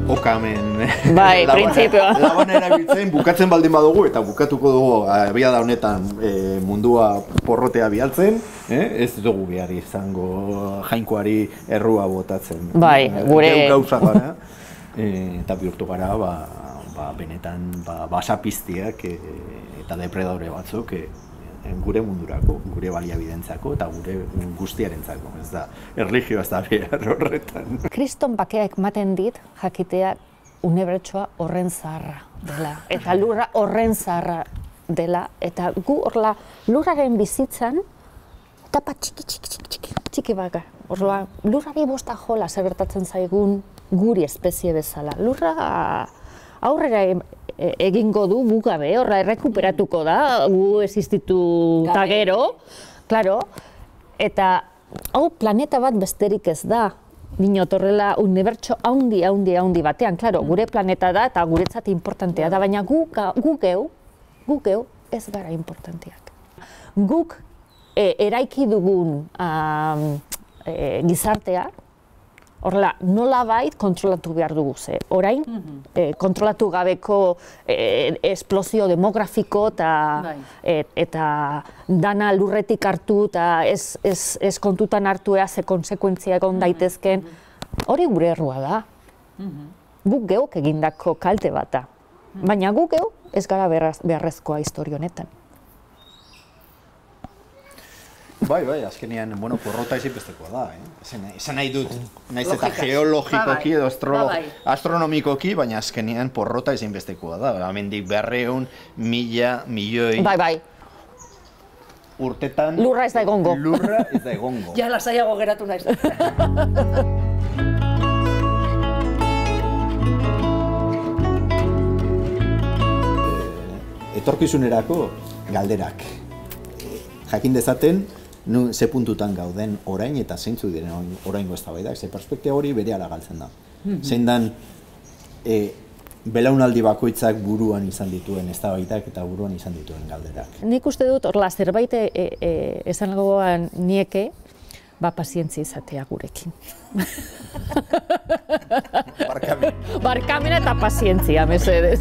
okamen bai, printzipioa. laban erabiltzen, bukatzen baldin badugu, eta bukatuko dugu abiada honetan mundua porrotea bialtzen, ez dugu behar izango jainkoari errua botatzen. Bai, gure... Gauza gara, eta bihurtu gara, benetan basapiztiak eta depredadore batzuk gure mundurako, gure baliabidentzako eta gure guztiarentzako, ez da, erlijioa ez da behar horretan. Kriston bakeak ematen dit jakitea unibertsoa horren zaharra dela, eta lurra horren zaharra dela, eta gu horla lurraren bizitzan tapa txiki baka. Horla, lurrari bosta jola zer gertatzen zaigun guri espezie bezala. Lurra aurrera egingo du gu gabe, horra errekuperatuko da, gu existitu eta gero, claro, eta hau planeta bat besterik ez da, dinot horrela unibertso haundi batean, claro, gure planeta da eta guretzat importantea da, baina gu geu ez gara importanteak. Guk eraiki dugun gizartea, horrela, nolabait kontrolatu behar dugu ze. Orain, kontrolatu gabeko esplosio demografiko eta dana lurretik hartu eta ez kontutan hartu ze konsekuentzia egon daitezken, hori gure errua da. Guk geuk egindako kalte bat da. Baina guk geu ez gara beharrezkoa historia honetan. Bai, azkenean, porrota ezinbestekoa da, esan nahi dut, naiz eta geologikoki edo astronomikoki, baina azkenean porrota ezinbestekoa da, hemendik 200 milioi urtetan... Lurra ez da egongo. Lurra ez da egongo. Ja, lasaiago geratu naiz. Etorkizunerako galderak. Jakin dezaten, ze puntutan gauden orain eta zeintzu diren oraingo eztabaidak, ze perspektiba hori berehala galtzen da. Zein dan belaunaldi bakoitzak buruan izan dituen eztabaidak eta buruan izan dituen galderak. Nik uste dut horla zerbait esangoan nieke, pazientzia izatea gurekin. Barkamena. Barkamena eta pazientzia, mesedez.